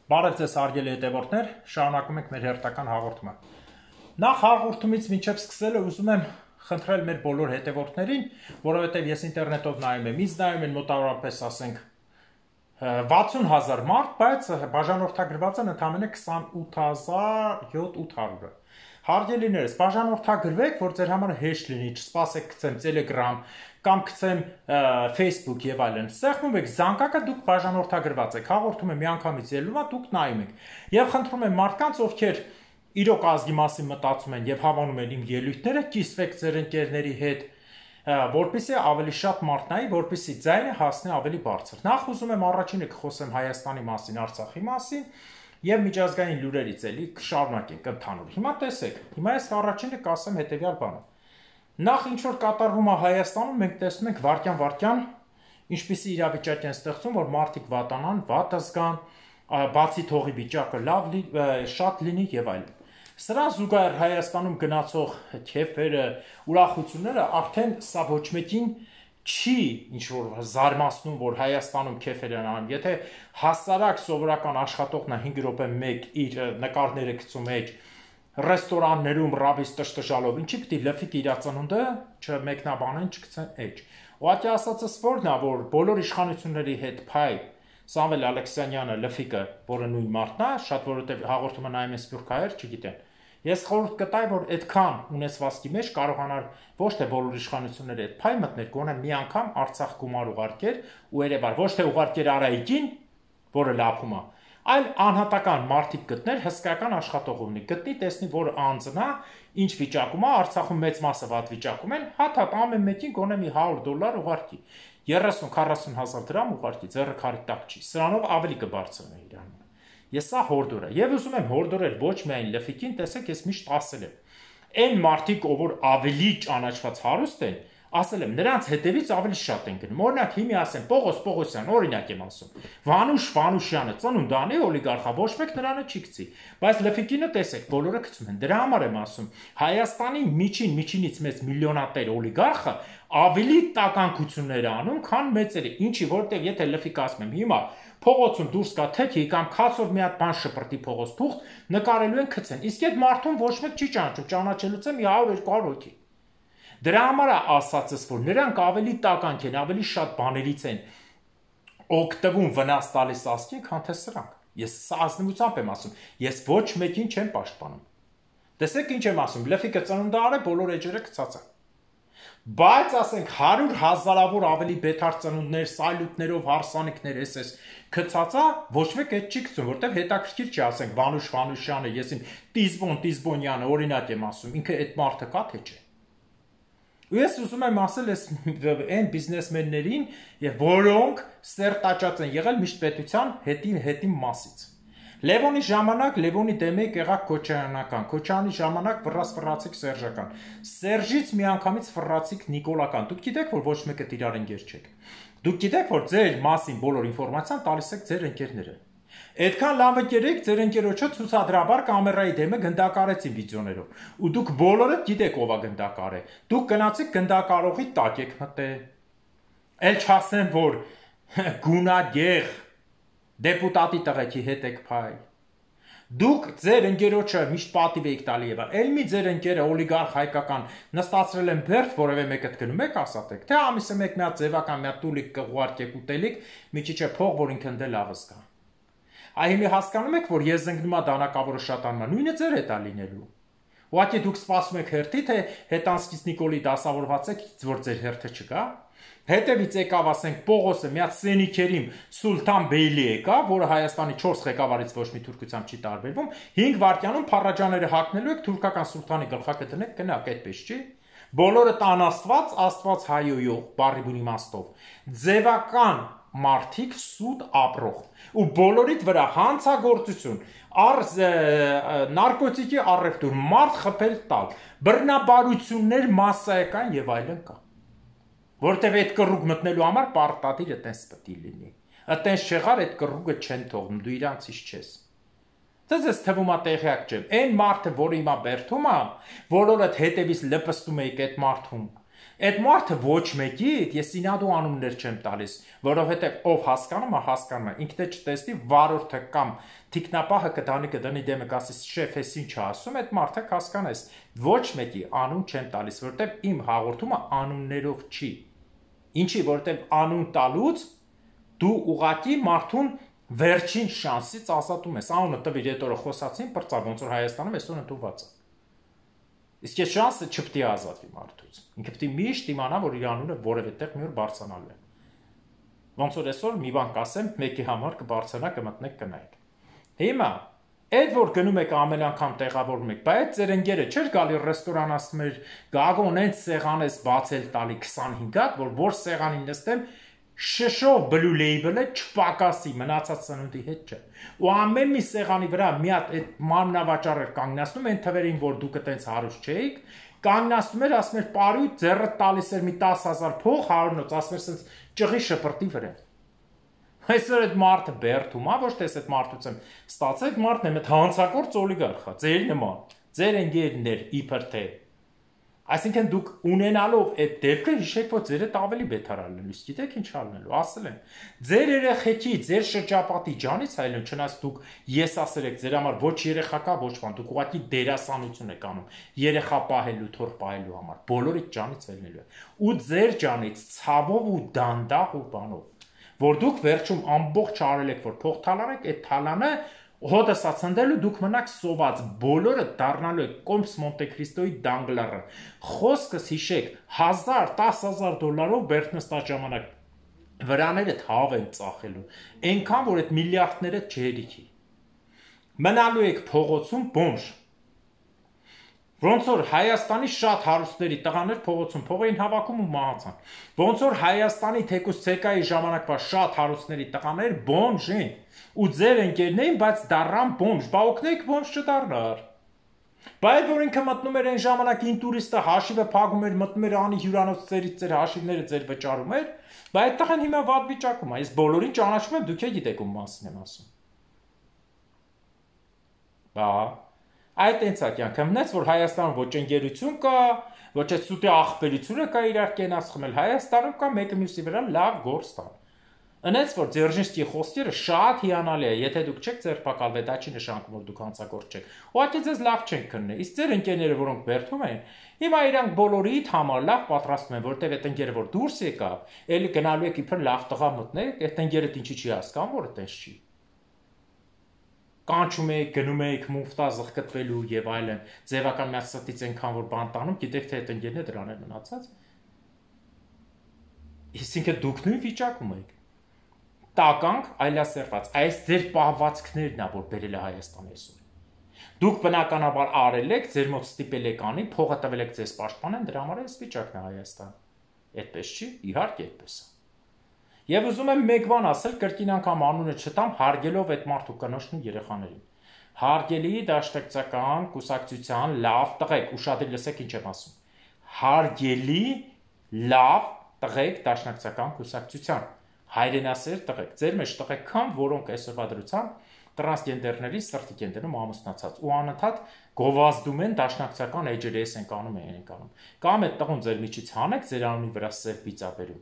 Բարև ձեզ հարգելի հետևորդներ, շարունակում ենք մեր հերթական հաղորդումը։ Նախ հաղորդումից մինչև սկսելը ուզում եմ խնդրել մեր բոլոր հետևորդներին, որովհետև ես ինտերնետով նայում եմ, ինձ նայում են մոտավորապես ասենք 60,000 մարդ, բայց բաժանորդագրված են ընդամենը 28,800-ը։ Հարգելիներս, բաժանորդագրվեք, որ ձեր համար հեշտ լինի, չսպասեք գցեմ Telegram կամ գցեմ Facebook եւ այլն։ Սեղմում եք զանգակը, դուք բաժանորդագրված եք, հաղորդում եմ միանգամից ելնում է, դուք նայում եք։ Եվ խնդրում եմ մարդկանց, ովքեր իրոք ազգի մասին մտածում են եւ հավանում են իմ ելույթները, կիսվեք ձեր ընկերների հետ, որպեսզի ավելի շատ մարդ նայի, որպեսզի ձայնը հասնի ավելի բարձր։ Նախ ուզում եմ առաջինը կխոսեմ Հայաստանի մասին, Արցախի մասին եւ միջազգային լուրերից էլի կշարունակենք ընդհանուր։ Հիմա տեսեք, հիմա ես առաջինը կասեմ հետեւյալ բանը։ Նախ ինչ որ կատարվում է Հայաստանում, մենք տեսնում ենք վարքյան ինչպիսի իրավիճակ են ստեղծում, որ մարդիկ վատանան, վատ զգան, բացի թողի վիճակը լավ շատ լինի եւ այլն։ Սրան զուգահեռ Հայաստանում գնացող քեֆերը, ուրախությունները արդեն սա ոչ մեկին չի ինչ որ զարմացնում, որ Հայաստանում քեֆեր են անում։ Եթե հասարակ սովորական աշխատողն է 5 րոպե մեկ իր նկարները գցում էջ ռեստորաններում ռաբիս տշտշալով, ինչի պիտի լֆիկ իր ծնունդը չմեկնաբանեն, չգցեն էջ։ Ուղղակի ասածս որն է, որ բոլոր իշխանությունների հետ փայ Սամվել Ալեքսանյանը լֆիկը, որը նույն մարդն է, շատ որովհետև հաղորդումը նայում են սփյուռքահայեր, չգիտեն։ Ես խորհուրդ կտայի, որ այդքան ունեցվածքի մեջ կարողանար ոչ թե բոլոր իշխանությունները այդ փայ մտներ, գոնե մի անգամ Արցախ գումար ուղարկեր ու երևար ոչ թե ուղարկեր Արայիկին, որը լափում է, այլ անհատական մարդիկ գտներ հսկայական աշխատող ունի, գտնի տեսնի, որ անձն է, ինչ վիճակում է, Արցախում մեծ մասը վատ վիճակում են, հատ ամեն մեկին գոնե մի $100 ուղարկի, 30-40 հազար դրամ ուղարկի, ձեռը քարի տակ չի, սրանով ավելի կբարձրնի իրան։ Ես սա հորդոր եմ, եւ ուզում եմ հորդորել ոչ միայն լֆիկին, տեսեք, ես միշտ ասել եմ, այն մարդիկ, ով ավելի ճանաչված հարուստ են, ասել եմ, նրանց հետևից ավելի շատ են գնում։ Օրինակ, հիմի ասեմ, Պողոս Պողոսյան, օրինակ եմ ասում, Վանուշ Վանուշյանը ծնունդանի օլիգարխա, ոչ մեկ նրանը չի գցի, բայց լֆիկինը տեսեք, բոլորը գցում են։ Դրա համար եմ ասում, Հայաստանի միջինից մեծ միլիոնատեր օլիգարխը ավելի տականքություններ անում, քան մեծերը, ինչի, որտեղ եթե լֆիկ ասում եմ, հիմա փողոցում դուրս կա թեքի կամ քացով մի հատ բան շպրտի փողոց թուղթ, նկարելու են գցեն։ Իսկ այդ մարդուն ոչ մեկ չի ճանաչում, ճանաչելուց է մի 100-200 հոգի։ Դրա համար է ասածս, որ նրանք ավելի տականք են, ավելի շատ բաներից են օգտվում վնաս տալիս ազգին, քան թե սրանք։ Ես սա ազնվությամբ եմ ասում, ես ոչ մեկին չեմ պաշտպանում։ Տեսեք ինչ եմ ասում, լֆիկը ծնունդարը բոլոր էջերը գցած է։ Բայց ասենք 100,000-ավոր ավելի բետար ծնունդներ, սայլուտներով, հարսանիքներ էս գցածա, ոչ մեկ այդ չի գցում, որտեվ հետաքրքիր չի, ասենք Վանուշ Վանուշյանը, ես իմ Տիզբոն օրինակ եմ ասում, ինքը այդ մարդը կա թե չէ։ Ու ես ուզում եմ ասել այն բիզնեսմեններին, որոնք սերտաճած են եղել միշտ պետության հետին մասից։ Լևոնի ժամանակ Լևոնի դեմեկ եղավ Քոչարյանական, Քոչարյանի ժամանակ ֆռացիկ Սերժական, Սերժից միանգամից ֆռացիկ Նիկոլական։ Դուք գիտեք, որ ոչ մեկը իրար ընկեր չեք։ Դուք գիտեք, որ ձեր մասին բոլոր ինֆորմացիան տալիս եք ձեր ընկերները։ Այդքան լավ ընկերեք ձեր ընկերոջը ցուցադրաբար կամերայի դեմը գնդակարեցին վիդեոներով։ Ու դուք բոլորը գիտեք ով է գնդակարը։ Դուք գնացիք գնդակարողի տակ եք մտել։ Էլ չասեմ, որ գունագեղ դեպուտատի տղեկի հետ եք փայ։ Դուք ձեր ընկերոջը միշտ պատիվ եք տալի եւ այլ մի ձեր ընկերը օլիգարխ հայկական նստածրել են բերդ, որևէ մեկը գնում եք ասատեք, թե ամիսը մեկ մի հատ ձևական մի հատ տուլիկ կղուարկեք ուտելիք, մի քիչ է փող, որ ինքն դե լավ զգա։ Այ հիմա հասկանում եք, որ ես զնգնումա դանակավորը շատանում է, նույնը ձեր հետ է լինելու։ Ուղղակի դուք սպասում եք հերթի, թե հետանցքից Նիկոլի դասավորված եք, որ ձեր հերթը չկա։ Հետևից եկավ, ասենք, Պողոսը մի հատ Սենիքերիմ Սուլթան Բեյլի եկավ, որը Հայաստանի 4 ղեկավարից ոչ մի թուրքությամբ չի տարբերվում, 5 վայրկյանում փառաջաները հագնելու եք թուրքական սուլթանի գլխակը դնեք, գնաք, այդպես չի։ Բոլորը տան Աստված հայոյող, բառի բուն իմաստով։ Ձևական մարդիկ սուտ ապրող ու բոլորիդ վրա հանցագործություն, նարկոտիկի առևտուր, մարդ խփել տալ, բռնաբարություններ մասսայական եւ այլն կա։ Որտեւ այդ կռուկ մտնելու համար պարտադիր այտենց պետք է լինի։ Այտենց չեղար այդ կռուկը չեն թողնում, դու իրանցից չես։ Ձեզ թվում է տեղյակ չեմ։ Այն մարդը, որը հիմա բերթում է, որորդ հետևից լպստում եք այդ մարդուն, Այդ մարդը ոչ մեկի ես ինադու անուններ չեմ տալիս, որովհետև ով հասկանում է, հասկանում է, ինքն է չտեսնի վարորդը կամ թիկնապահը կդանի դեմը կասի շեֆ էս ինչ ասում, այդ մարդը հասկանես, ոչ մեկի անուն չեմ տալիս, որովհետև իմ հաղորդումը անուններով չի։ Ինչի, որովհետև անուն տալուց դու ուղակի մարդուն վերջին շանսից ազատում ես, անունը տվիր, այդ օրը խոսացին, պրծա, ոնց որ Հայաստանում այսօր ընդունված է։ Իսկ այս շանսը չպետք է ազատվի մարդուց։ Ինքը պետք է միշտ իմանա, որ իր անունը որևէ տեղ մի օր բարձրանալու է։ Ոնց որ այսօր մի բան կասեմ, մեկի համար կբարձրանա, կմտնեք, կնայեք։ Հիմա, այդ որ գնում եք ամեն անգամ տեղավորում եք, բայց ձեր ընկերը չէր գալի ռեստորան ասում էր, գագոն այդ սեղան ես բացել տալի 25 հատ, որ սեղանին նստեմ, շշով բլու լեյբլը չպակասի, մնացած սնունդի հետ չէ։ Ու ամեն մի սեղանի վրա մի հատ այդ մաննավաճառ էր կանգնացնում, այն թվերին, որ դուք այտենց հարուստ չէիք, կանգնացնում էր, ասում էր, «Պարույ, ձեռդ տալիս էր մի 10,000 փող, 100-նոց», ասում էր, «սենց ճղի շպրտի վրա»։ Այսօր այդ մարդը բերդում, ոչ թե այդ մարդուց եմ ստացել, այդ մարդն է մեծ հանցակորձ օլիգարխ, ձեր նման, ձեր ընկերներ իբր թե։ Այսինքն դուք ունենալով այդ դեպքը հիշեք, որ ձեր հետ ավելի բետար ալնելու, գիտեք ինչ ալնելու, ասել են։ Ձեր երեխեքի, ձեր շրջապատի ջանից այլն, չնայած դուք եսասեր եք, ձեր համար ոչ երեխա կա, ոչ բան, դուք ուղղակի դերասանություն եք անում, երեխա պահելու, թոռ պահելու համար, բոլորիդ ջանից ելնելու է։ Ու ձեր ջանից ցավով ու դանդաղ ու բանով, որ դուք վերջում ամբողջ արել եք, որ փող թալանեք, այդ թալանը հոտս ացնդելու դուք մնաք սոված, բոլորը դառնալու եք Կոմս Մոնտե Քրիստոյի դանգլարը։ Խոսքս հիշեք, 1000-10,000 դոլարով բերտնստա ժամանակ վրաները թավ են ծախելու, այնքան, որ այդ միլիարդները չհերիքի։ Մնալու եք փողոցում բոմժ։ Ոնց որ Հայաստանի շատ հարուստների տղաներ փողոցում փող էին հավաքում ու մահացան։ Ոնց որ Հայաստանի թեկուզ ցեկայի ժամանակվա շատ հարուստների տղաներ բոմժ են ու ձեր ընկերներին, բայց դառան բոմժ, բա օգնեք բոմժ չդառնար։ Բայց որ ինքը մտնում էր այն ժամանակ ինտուրիստը հաշիվը փակում էր, մտնում էր անի հյուրանոցներից ձեր հաշիվները ձեր վճարում էր, բայց այդ տղան հիմա վատ վիճակում է, ես բոլորին ճանաչում եմ, դուք եք գիտեք ում մասին եմ ասում։ Բա այդ այնց է կյանքը մնաց, որ Հայաստանում ոչ ընկերություն կա, ոչ այդ սուտի աղբերությունը կա իրար կենաց խմել, Հայաստանում կա մեկը մյուսի վրա լավ գործ տան։ Ընենց որ Ձերժինսկի խոսքերը շատ հիանալի է, եթե դուք չեք ձերբակալվել, դա չի նշանակում, որ դուք հանցագործ չեք։ Ուղղակի ձեզ լավ չենք քննել։ Իսկ ձեր ընկերները, որոնք բերդում են, հիմա իրանք բոլորիդ համար լավ պատրաստում են, որտեղ այդ ընկերը որ դուրս եկավ, էլի գնալու եք իբր լավ տղա մտնեք, այդ ընկերը ինչի չի հասկանում, որ այդպես չի։ Կանչում եք, գնում եք մուֆտա զղկտվելու եւ այլն, ձևական միացածից այնքան որ բան տանում, գիտեք թե այդ ընկերն է դրաներ մնացած։ Այսինքն դուք նույն վիճակում եք։ Տականք այլասերված, այս ձեր պահվածքներն է, որ բերել է Հայաստան այսօր։ Դուք բնականաբար արել եք, ձեր մոտ ստիպել եք անի, փողը տվել եք ձեզ պաշտպանեն, դրա համար այս վիճակն է Հայաստան։ Այդպես չի, իհարկե այդպես է։ Եվ ուզում եմ մեկ բան ասել, կրկին անգամ անունը չտամ, հարգելով այդ մարդու կնոջն ու երեխաներին։ Հարգելի դաշնակցական կուսակցության լավ տղեկ, ուշադիր լսեք ինչ եմ ասում։ Հարգելի լավ տղեկ դաշնակցական կուսակցության, հայրենասեր տղեկ, ձեր մեջ տղեկ կան, որոնք այսօրվա դրությամբ տրանսգենդերների սրտի կենտրոնում ամուսնացած ու անընդհատ գովազդում են դաշնակցական էջերը, ես ենք անում, են անում։ Կամ այդ տղուն ձեր միջից հանեք, ձեր անունի վրա սև պիծաբերում։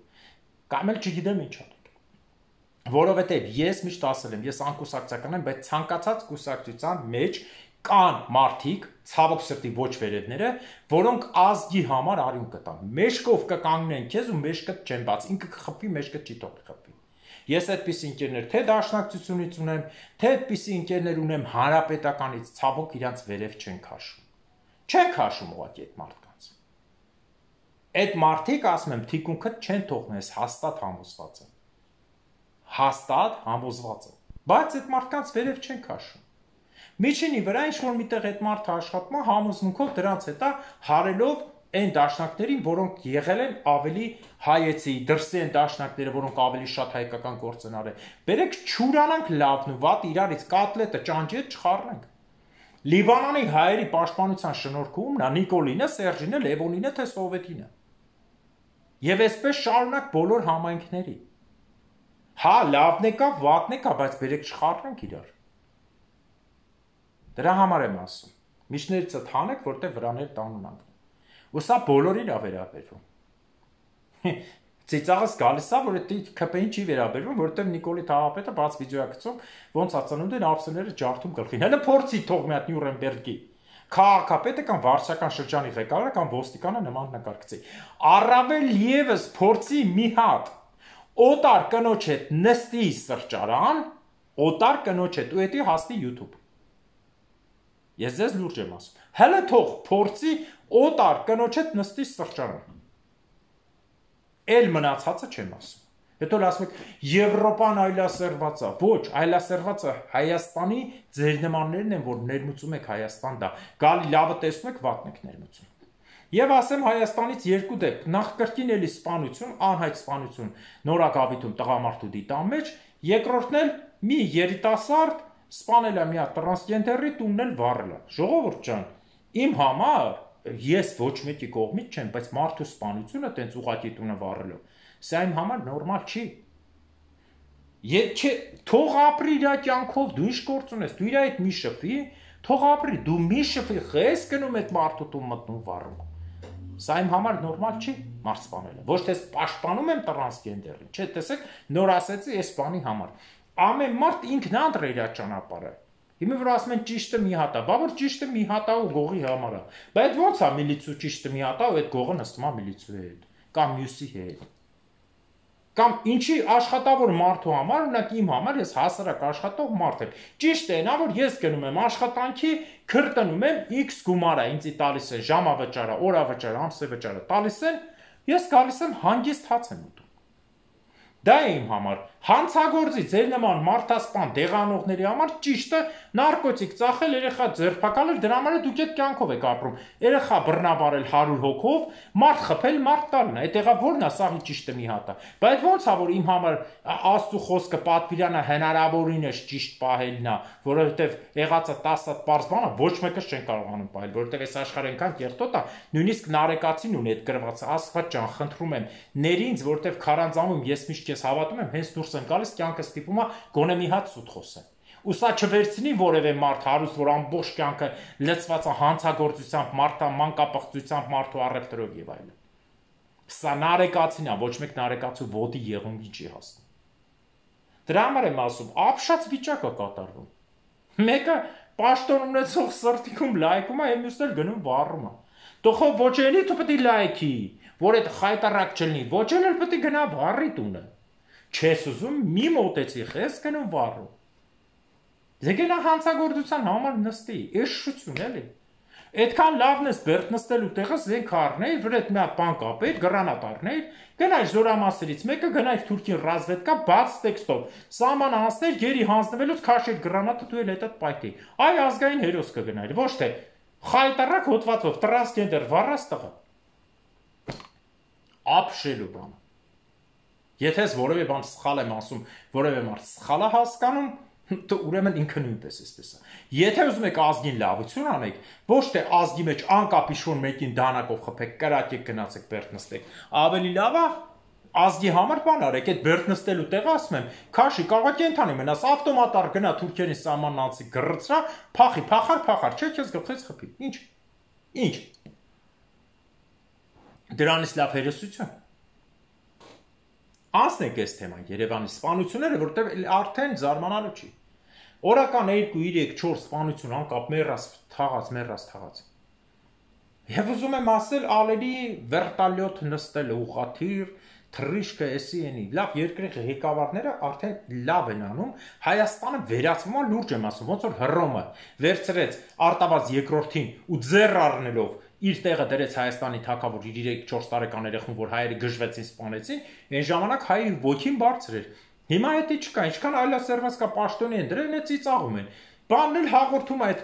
Կամ էլ չգիտեմ ինչ անեք։ Որովհետև ես միշտ ասել եմ, ես անկուսակցական եմ, բայց ցանկացած կուսակցության մեջ կան մարդիկ, ցավոք սրտի ոչ վերևները, որոնք ազգի համար արյուն կտան։ Մեջքով կկանգնեն քեզ ու մեջքդ չեն բաց, ինքը կխփվի, մեջքդ չի թողի խփվի։ Ես այդպիսի ընկերներ թե դաշնակցությունից ունեմ, թե այդպիսի ընկերներ ունեմ հանրապետականից, ցավոք իրանց վերև չեն քաշում։ Չեն քաշում ուղղակի այդ մարդկանց։ Այդ մարդիկ, ասում եմ, թիկունքդ չեն թողնես, հաստատ համոզված են։ Հաստատ համոզված են։ Բայց այդ մարդկանց վերև չեն քաշում։ Միջինի վրա ինչ-որ միտեղ այդ մարդը աշխատում է համոզմունքով դրանց հետա հարելով այն դաշնակներին, որոնք եղել են ավելի հայեցի, դրսի են դաշնակները, որոնք ավելի շատ հայկական գործ են արել։ Բերեք չուրանանք լավն ու վատ իրարից կոտլետը ճանճի հետ չխառնենք։ Լիբանանի հայերի պաշտպանության շնորհքում նա Նիկոլինը, Սերժինը, Լևոնինը, թե Սովետինը։ Եվ այսպես շարունակ բոլոր համայնքների։ Հա, լավն է կա, վատն է կա, բայց բերեք չխառնենք իրար։ Դրա համար եմ ասում։ Միջներից հանեք, որտեղ վրաներ տանունանք։ Ու սա բոլորին է վերաբերվում։ Ծիծաղս գալիս է, որ դա ԿՊ-ին չի վերաբերվում, որովհետև Նիկոլի Թաղապետը բաց վիդեոյակցում ոնց ածանունդ են ափսեները ջարդում գլխին։ Հələ փորձի թող մի հատ Նյուրնբերգի քաղաքապետը կամ վարչական շրջանի ղեկավարը կամ ոստիկանը նման նկարգծի։ Առավել եւս փորձի մի հատ օտար կնոջ հետ նստի սրճարան, օտար կնոջ հետ ու էդի հասնի YouTube։ Ես ձեզ լուրջ եմ ասում։ Հələ թող փորձի օտար կնոջ հետ նստի սրճարան։ Էլ մնացածը չեմ ասում։ Հետո ասում եք Եվրոպան այլասերված է։ Ոչ, այլասերվածը Հայաստանի ձեր նմաններն են, որ ներմուծում եք Հայաստան դա։ Գալի լավը տեսնում եք, վատն եք ներմուծում։ Եվ ասեմ Հայաստանից երկու դեպք, նախ կրկին էլի սպանություն, անհայտ սպանություն Նորագավիթում տղամարդու դիտան մեջ, երկրորդն էլ մի երիտասարդ սպանել է մի հատ տրանսգենդերի տունն էլ վառել է։ Ժողովուրդ ջան, իմ համար ես ոչ մեկի կողմից չեմ, բայց մարդու սպանությունը տենց ուղղակի տունը վառելով, սա իմ համար նորմալ չի։ Թող ապրի իր կյանքով, դու ինչ գործ ունես, դու իր հետ մի շփվի, թող ապրի, դու մի շփվի, խես գնում այդ մարդու տուն մտնում վառում։ Սա իմ համար նորմալ չի, մարդ սպանելը։ Ոչ թե պաշտպանում եմ տրանսգենդերին, չէ, տեսեք, նոր ասեցի այս բանի համար։ Ամեն մարդ ինքն անդր իր ճանապարհը։ Հիմա որ ասում են ճիշտը մի հատ է, բա որ ճիշտը մի հատ է ու գողի համար է։ Բայց ո՞նց է միլիցու ճիշտը մի հատ է ու այդ գողը նստում է միլիցուի հետ կամ մյուսի հետ։ Կամ ինչի աշխատավոր մարդու համար, օրինակ իմ համար ես հասարակ աշխատող մարդ եմ։ Ճիշտ է նա, որ ես գնում եմ աշխատանքի, քրտնում եմ X գումարը, ինձ տալիս է ժամավճարը, օրավճարը, ամսվճարը տալիս են, ես գալիս եմ հանգիստ հաց եմ ուտում։ Դա է իմ համար, հանցագործի ձեր նման մարդասպան դեղանողների համար ճիշտը նարկոտիկ ծախել, երեխա ձերբակալել, դրա համար դուք այդ կյանքով եք ապրում։ Երեխա բռնաբարել 100 հոգով, մարդ խփել, մարդ տալն է, այդ եղավ որն է, սաղի ճիշտը մի հատ է։ Բայց ո՞նց է որ իմ համար Աստծո խոսքը պատվիրանը հնարավորինս ճիշտ պահելն է, որովհետև եղածը 10 հատ պարզ բան է, ոչ մեկս չեն կարողանում պահել, որովհետև այս աշխարհը այնքան կեղտոտ է, նույնիսկ նարեկացին ունի այդ գրված, Աստված ջան, խնդրում եմ, ներ ինձ, որովհետև քարանձավում ես միշտ ես հավատում եմ, հենց դուրս եմ գալիս, կյանքը ստիպում է գոնե մի հատ սուտ խոսեմ։ Ու սա չվերցնի որևէ մարդ հարուստ, որ ամբողջ կյանքը լցված է հանցագործությամբ, մանկապղծությամբ, մարդու առևտրով եւ այլն։ Սա նարեկացին է, ոչ մեկ նարեկացու ոտի եղունգի չի հասնում։ Դրա համար եմ ասում, ապշած վիճակ է կատարվում։ Մեկը պաշտոն ունեցող սրտիկում լայքում է, մյուսն էլ գնում վառում է։ Տոխով ոչ էլի դու պետք է լայքի, որ այդ խայտարակ չլինի, ոչ էլ պետք է գնա վառի տունը։ Չես ուզում, մի մոտեցի, խես գնում վառում։ Ձեգենա հանցագործության համար նստի, էշշություն էլի։ Այդքան լավն ես բերդ նստելու տեղը զենք առնեիր, վրա այդ մի հատ բան կապեիր, գրանատ առնեիր, գնայր զորամասերից մեկը, գնայր Թուրքին ռազմետկա բաց տեքստով, սահման անցներ, գերի հանձնվելուց քաշեր գրանատը դու էլ հետդ պայթի։ Այ ազգային հերոս կգնայր, ոչ թե խայտարակ հոտվածով տրանսգենդեր վառած տղա։ Ապշելու բան։ Եթե ես որևէ բան սխալ եմ ասում, որևէ մարդ սխալ է հասկանում, ուրեմն ինքը նույնպես էսպես է։ Եթե ուզում եք ազգին լավություն անեք, ոչ թե ազգի մեջ անկապ իշխուն մեկին դանակով խփեք, կրակեք, գնացեք բերդ նստեք, ավելի լավ է ազգի համար բան արեք, այդ բերդ նստելու տեղը ասում եմ, քաշի կարող է ընթանի մնաս, ավտոմատար գնա Թուրքիայի սահմանն անցի գրծրա, փախի, փախար, չէ, քեզ գլխից խփի։ Ինչ։ Դրանից լավ հերոսություն։ Անցնենք այս թեման Երևանի սպանությունները, որտեղ արդեն զարմանալու չի։ Օրական 2, 3, 4 սպանություն անկապ մեռած թաղած։ Եվ ուզում եմ ասել, ալերի վերտալյոտ նստել ուղղաթիռ, թռիչքը էսի էնի, լավ երկրի ղեկավարները արդեն լավ են անում, Հայաստանը վերացվում է, լուրջ եմ ասում, ոնց որ Հռոմը վերցրեց Արտավազ երկրորդին ու ձեռ առնելով իր տեղը դրեց Հայաստանի թագավոր իր 3-4 տարեկան երեխուն, որ հայերը գժվեցին, սպանեցին, այն ժամանակ հայի ոգին բարձր էր։ Հիմա դա չկա, ինչքան այլասերված կա պաշտոնի են դրել, այդ ծիծաղում են։ Բանն էլ հաղորդում այդ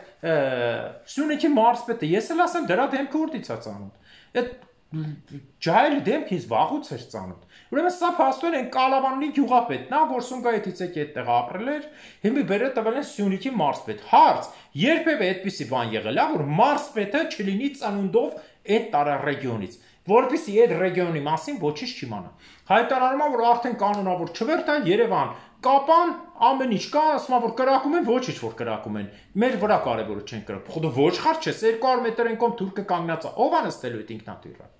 Սյունիքի մարզպետը, ես էլ ասեմ դրա դեմքը ուրդից է ծանոթ։ Այդ ջահելի դեմքը ինձ վաղուց էր ծանոթ։ Ուրեմն սա փաստորեն այն Կալավանի գյուղապետն է, որ Սումգայիթից եկի այդտեղ ապրել էր, հիմա բերել տվել են Սյունիքի մարզպետ։ Հարց. երբևէ այդպիսի բան եղել է, որ մարզպետը չլինի ծնունդով այդ տարարեգիոնից, որովհետեւ այդ ռեգիոնի մասին ոչինչ չիմանա։ Հայտարարում է, որ արդեն կանոնավոր չվերթ է Երևան, կապան ամեն ինչ կա, ասում է, որ կրակում են, ոչինչ որ կրակում են։ Մեր վրա կարևորը չեն կրակում։ Խոդը ոչխար չես, 200 մետր են կողմ թուրքը կանգնած է։ Ո՞վ է նստելու այդ ինքնաթիռը։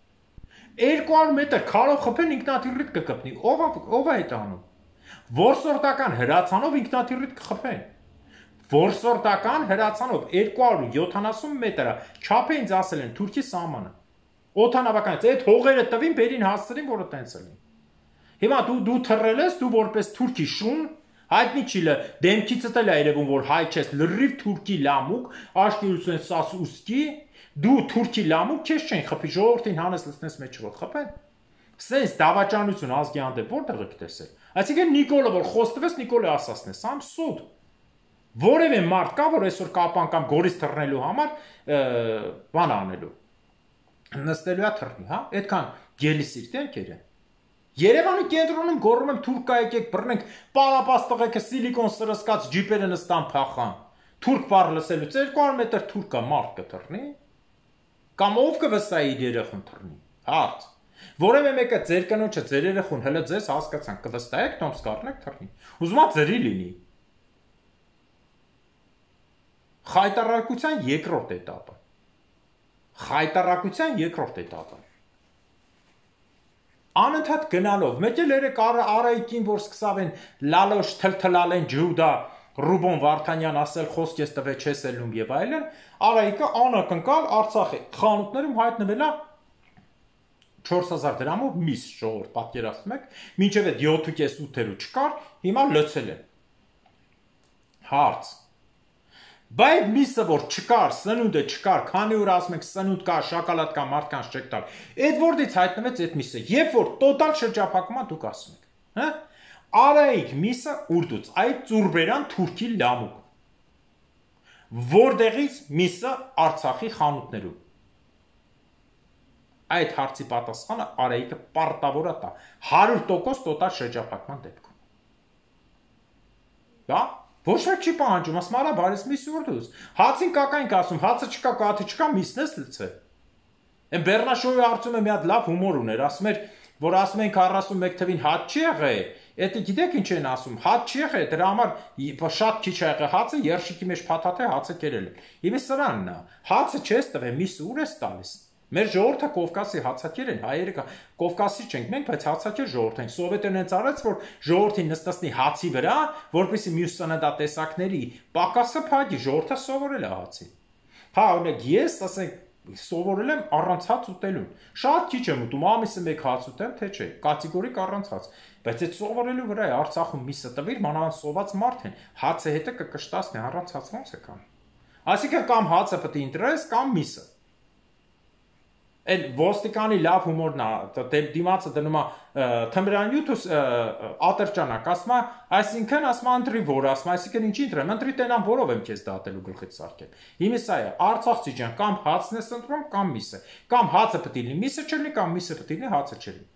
200 մետր քարով խփեն ինքնաթիռիդ կկպնի։ Ով է այդ անում։ Որսորդական հրացանով ինքնաթիռիդ կխփեն։ Որսորդական հրացանով 270 մետրը չափը ինձ ասել են Թուրքի սահմանը։ Օդանավականից այդ հողերը տվին, բերին հասցրին, որը տենց լինի։ Հիմա դու թռել ես, դու որպես թուրքի շուն, հայտնի չի դեմքիցդ էլ է երևում, որ հայ չես, լրիվ թուրքի լամուկ, աշկերություն սաս ուսկի, դու թուրքի լամուկ քեզ չեն խփի, ժողովրդին հանես լցնես մեջ որ խփեն։ Սենց դավաճանություն ազգի հանդեպ որտեղ եք տեսել։ Այսինքն Նիկոլը որ խոստվեց, Նիկոլը ասացն է, սամ սուտ։ Որևէ մարդ կա, որ այսօր կապան կամ գորից թռնելու համար բան անելու։ Նստելու է թռնի, հա, այդքան գելիսիր տենքեր են։ Երևանի կենտրոնում գոռում եմ թուրք կա եկեք բռնենք, պարապած տղեկը սիլիկոն սրսկած ջիպերը նստան փախան։ Թուրք բառ լսելուց 200 մետր թուրք կա մարդ կթռնի։ Կամ ով կվստահի իր երեխուն թռնի։ Հարց։ Որևէ մեկը ձեր կնոջը, ձեր երեխուն հələ ձեզ հասկացան, կվստահեք Տոմս կառնեք թռնի։ Ուզում ա ձրի լինի։ Խայտարակության երկրորդ էտապը։ Խայտարակության երկրորդ էտապը։ Անընդհատ գնալով, մեկ էլ երեք Արայիկին, որ սկսավ են լալոշ թլթլալեն ջուդա Ռուբոն Վարդանյան ասել խոսք ես տվե չես ելնում եւ այլն, Արայիկը անակնկալ Արցախի խանութներում հայտնվել է 4000 դրամով միս ժողովուրդ պատկերացնում եք, մինչև այդ 7.5-8-ը չկար, հիմա լցել են։ Հարց։ Բայց միսը որ չկար, սնունդը չկար, քանի որ ասում եք սնունդ կա, շոկոլադ կա, մարդկանց չեք տալ։ Այդ որտից հայտնվեց այդ միսը, երբ որ տոտալ շրջափակումա դուք ասում եք, հա? Արայիկ միսը ուրդուց, այդ ծուրբերան թուրքի լամուկ։ Որտեղից միսը Արցախի խանութներում։ Այդ հարցի պատասխանը Արայիկը պարտավոր է տա 100% տոտալ շրջափակման դեպքում։ Դա ոչ մեկ չի պահանջում, ասում արա բարես միս ուրդուց։ Հացին կակային ասում, հացը չկա, կաթը չկա, միսն ես լցել։ Այն Բեռնաշովի արծում է մի հատ լավ հումոր ուներ, ասում էր, որ ասում են 41 թվին հաց չի եղել, դա գիտեք ինչ են ասում, հաց չի եղել, դրա համար շատ քիչ է եղել հացը, երշիկի մեջ փաթաթ է հացը կերել են։ Իմը սրանն է, հացը չես տվել, միսը ուր ես տալիս։ Մեր ժողովուրդը Կովկասի հացակեր են, հայերը Կովկասի չենք մենք, բայց հացակեր ժողովուրդ ենք։ Սովետերն են արած, որ ժողովրդին նստացնի հացի վրա, որպեսզի մյուս սննդատեսակների պակասը փակի, ժողովուրդը սովորել է հացին։ Հա, օրինակ ես, ասենք, սովորել եմ առանց հաց ուտելուն։ Շատ քիչ եմ ուտում, ամիսը մեկ հաց ուտեմ, թե չէ, կատեգորիկ առանց հաց։ Բայց այդ սովորելու վրա է Արցախում միսը տվիր, մանավանդ սոված մարդ են, հացը հետը կկշտացնի, առանց հաց ոնց է կան։ Այսինքն կամ հացը պետք է ընտրես, կամ միսը։ Այն ոստիկանի լավ հումորն է, դիմացը դնում է թմրանյութ ատրճանակ, ասում է, այսինքն ասում է ընտրի որ, ասում է, այսինքն ինչի ընտրեմ, ընտրի տենամ որով եմ քեզ դատելու գլխից սարքել։ Հիմա սա է, Արցախցի ջան, կամ հացն ես ընտրում, կամ միսը, կամ հացը պետք է լինի միսը չլինի, կամ միսը պետք է լինի հացը չլինի։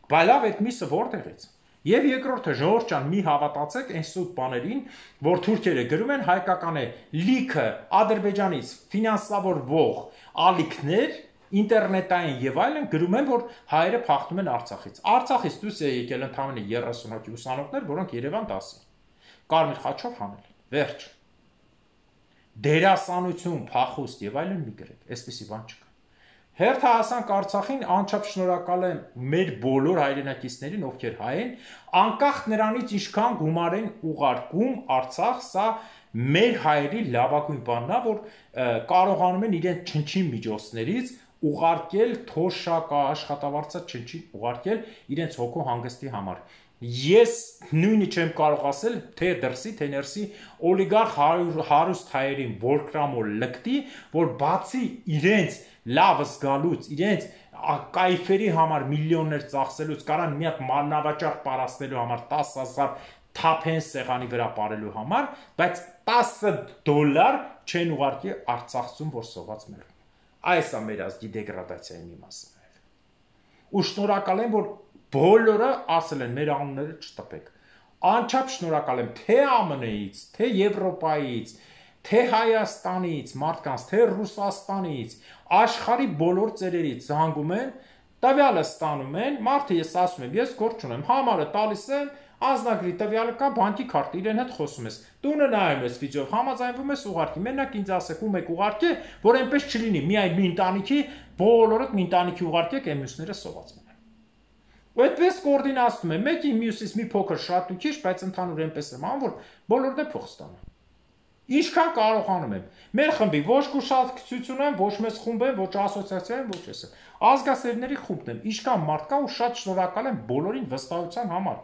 Բայց լավ այդ միսը որտեղից։ Եվ երկրորդը ժողովուրդ ջան, մի հավատացեք այն սուտ բաներին, որ թուրքերը գրում են հայկական է լիքը Ադրբեջանից ֆինանսավորվող ալիքներ ինտերնետային եւ այլն գրում են, որ հայերը փախնում են Արցախից։ Արցախից դուրս է եկել ընդամենը 30 հոգի ուսանողներ, որոնք Երևան դասին։ Կարմիր խաչով հանել են։ Վերջ։ Դերասանություն, փախուստ եւ այլն մի գրեք, այսպեսի բան չկա։ Հերթը հասանք Արցախին, անչափ շնորհակալ եմ մեր բոլոր հայրենակիցներին, ովքեր հայ են, անկախ նրանից ինչքան գումար են ուղարկում Արցախ, սա մեր հայերի լավագույն բանն է, որ կարողանում են իրենց չնչին միջոցներից ուղարկել թոշակա աշխատավարձած չնչին ուղարկել իրենց հոգու հանգստի համար։ Ես նույնը չեմ կարող ասել թե դրսի, թե ներսի օլիգարխ հարուստ հայերին որքրամոլ լկտի, որ բացի իրենց լավ զգալուց, իրենց կայֆերի համար միլիոններ ծախսելուց, կարան մի հատ մանավաճառ պարասնելու համար 10,000 թափեն սեղանի վրա ապարելու համար, բայց $10 չեն ուղարկի Արցախցուն, որ սոված մեռնում։ Այս է մեր ազգի դեգրադացիայի մի մասը նաև։ Ու շնորհակալ եմ, որ բոլորը ասել են մեր անունները չտպեք։ Անչափ շնորհակալ եմ թե ԱՄՆ-ից, թե Եվրոպայից, թե Հայաստանից, մարդկանց, թե Ռուսաստանից, աշխարհի բոլոր ծերերից զանգում են, տվյալը ստանում են, մարդը ես ասում եմ, ես գործ չունեմ, համարը տալիս են, Ազնագրի տվյալը կա, բանկի քարտը, իրեն հետ խոսում ես։ Տունը նայում ես վիդեով, համաձայնվում ես ուղարկի։ Մենակ ինձ ասեք ում եք ուղարկի, որ այնպես չլինի, միայն մի ընտանիքի, բոլորդ մի ընտանիքի ուղարկեք, այն մյուսները սոված մնան։ Ու այդպես կոորդինացնում է, մեկի մյուսից մի փոքր շատ ու քիչ, բայց ընդհանուր այնպես եմ անում, որ բոլորն է փող ստանան։ Ինչքան կարողանում եմ։ Մեր խմբի ոչ կուսակցություն եմ, ոչ մեծ խումբ եմ, ոչ ասոցիացիա եմ, ոչ ես եմ։ Ազգասերների խումբն եմ։ Ինչքան մարդ կա ու շատ շնորհակալ եմ բոլորին վստահության համար,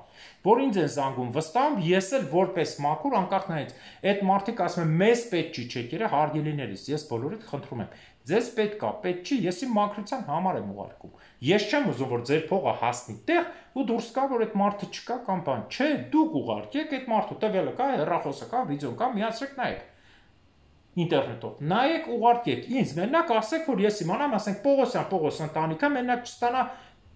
որ ինձ են զանգում, վստահում, ես էլ որպես մաքուր անկախ նայից։ Այդ մարդիկ ասում են, մեզ պետք չի չեկերը հարգելիներիս, ես բոլորիդ խնդրում եմ։ Ձեզ պետք չի, ես իմ մաքրության համար եմ ուղարկում։ Ես չեմ ուզում, որ ձեր փողը հասնի տեղ ու դուրս գա, որ այդ մարդը չկա կամ բան։ Չէ, դուք ուղարկեք այդ մարդու տվյալը կա, հեռախոսը կա, վիդեոն կա, միացրեք նայեք։ Ինտերնետով։ Նայեք, ուղարկեք։ Ինձ մենակ ասեք, որ ես իմանամ, ասենք Պողոս ընտանիքը մենակ չստանա